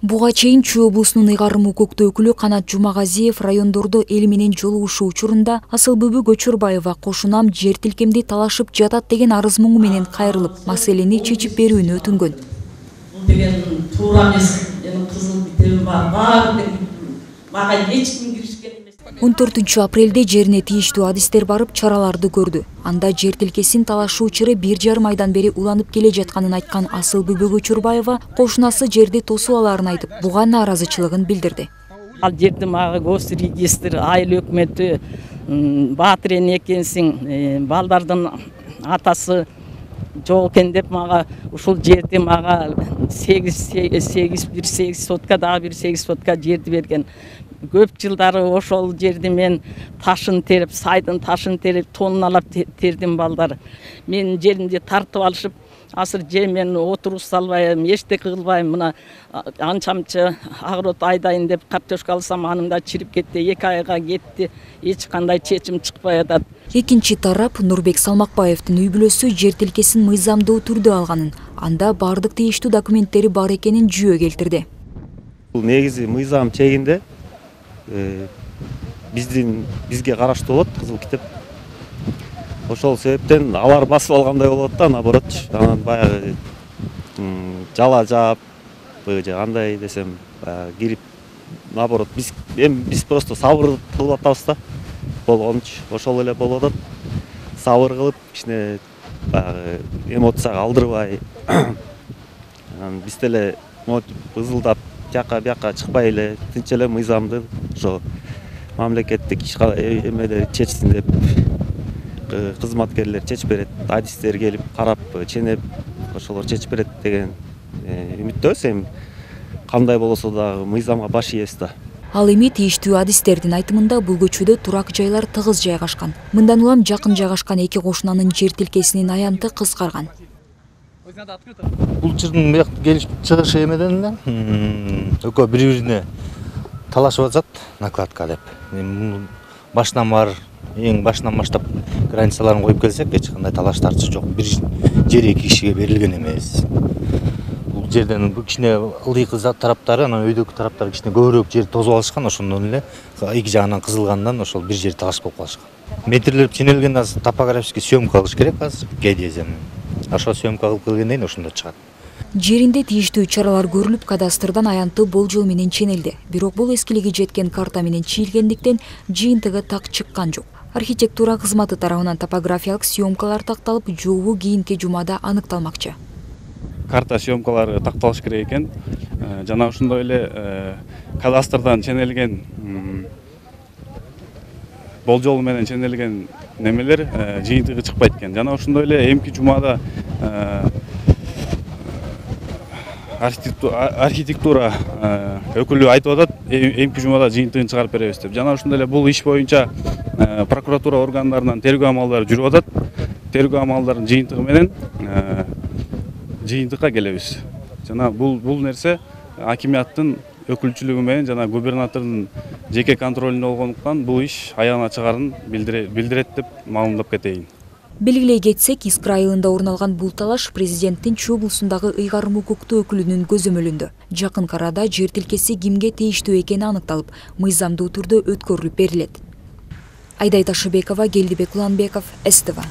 Буга чейин Чүй облусунун ыйгарым укуктуу өкүлү Канат Жумагазиев райондордо эл менен жолугушуу учурунда Асылбүбү Көчөрбаева кошунам жер тилкемди талашып жатат деген арыз муңу менен кайрылып, маселени чечип берүүнү өтүнгөн. Бул деген туура эмес. Менин кызыл китебим бар. Баары мага эч ким киришкен эмес. 14 апрелде жерине тийиштүү адистер барып чараларды көрдү. Анда жер тилкесин талашуу чыры 1,5 айдан бери уланып келе жатканын айткан Асылбүбү Көчөрбаева кошунасы жерди тосуп алаарын айтып, буга нааразычылыгын билдирди. Ал жерди мага Госрегистр, айыл өкмөтү баатыр экенсиң, балдардын атасы жок экен деп мага ушул жерди мага 8 сотка дагы 1 сотка жерди берген. Көп жылдары ошол жерди мен ташын терип, сайдын ташын терип, тонналап тердим балдар. Мен жеримди тартып алышып, азыр же мен отуруп салбайм, эчтеке кылбайм. Мына анчамчы агырот айдайын деп картошка алсам, анын да чирип кетти, 2 айга кетти. Эч кандай чечим чыкпай атат. Экинчи тарап Нурбек Салмакбаевдин үй бүлөсү жер тилкесин мыйзамдуу түрдө алганын, анда бардык тийиштүү документтери бар экенин жүйө келтирди. Бул негизи мыйзам чегинде бизге караштуу болот кызыл китеп. Ошол себептен алар басып алгандай болот да, наоборотчу. Анан баягы жала жаап же андай десем, кирип наоборот биз просто сабыр кылып атабыз да. Болгончу ошол эле болуп атат. Сабыр кылып, кичине баягы эмоцияга алдырбай, анан биз деле ызылдап жака чыкпай эле тынч эле мыйзамды ошо мамлекеттик эмелер чечсин деп кызматкерлер чечип берет, адистер келип карап ченеп ошолор чечип берет деген үмүттөбүз. Эми кандай болосо дагы мыйзамга баш ийебиз да. Ал эми тийиштүү адистердин айтымында бул көчөдө турак жайлар тыгыз жайгашкан. Мындан улам жакын жайгашкан эки кошунанын жер тилкесинин аянты кыскарган. Бул жердин бияк келип чыгышы эмеден эле экөө бири-бирине талашып атышат накладка деп. Башынан бар, эң башынан баштап границаларын коюп келсек, эч кандай талаш тартыш жок. Бир жер эки кишиге берилген эмес. Бул жерден кичине ылдыйкы тараптары, анан өйдөгү тараптары кичине көбүрөөк жер тосуп алышкан, ошондон эле эки жагынан кызылгандан ошол бир жер талаш болуп калышкан. Метрлеп ченелген азыр топографический съемка кылыш керек азыр геодезияны. Ошо съемка кылып келгенден кийин ошондо чыгат. Жеринде тийиштүү чаралар көрүлүп, кадастрдан аянты болжол менен ченелди. Бирок бул эскилиги жеткен карта менен чийилгендиктен жыйынтыгы так чыккан жок. Архитектура кызматы тарабынан топографиялык съемкалар такталып, жообу кийинки жумада аныкталмакчы. Карта съемкалары такталыш керек экен. Жана ошондой эле кадастрдан ченелген болжол менен ченелген немелер жыйынтыгы чыкпайт экен. Жана ошондой эле эмки жумада архитектура өкүлү айтып атат, эмки жумада жыйынтыгын чыгарып беребиз деп. Жана ошондой эле бул иш боюнча прокуратура органдарынан тергөө амалдары жүрүп атат. Тергөө амалдарынын жыйынтыгы менен жыйынтыкка келебиз. Жана бул нерсе акимияттын өкүлчүлүгү менен жана губернатордун жеке контролунда болгондуктан бул иш аягына чыгарын билдирет деп маалымдап кетейин. Белгилей кетсек, Искра айылында орун алган бул талаш президенттин Чүй облусундагы ыйгарым укуктуу өкүлүнүн көзөмөлүндө. Жакын арада жер тилкеси кимге тийиштүү экени аныкталып, мыйзамдуу түрдө өткөрүлүп берилет. Айдай Ташыбекова, Келдибек Уланбеков, СТВ.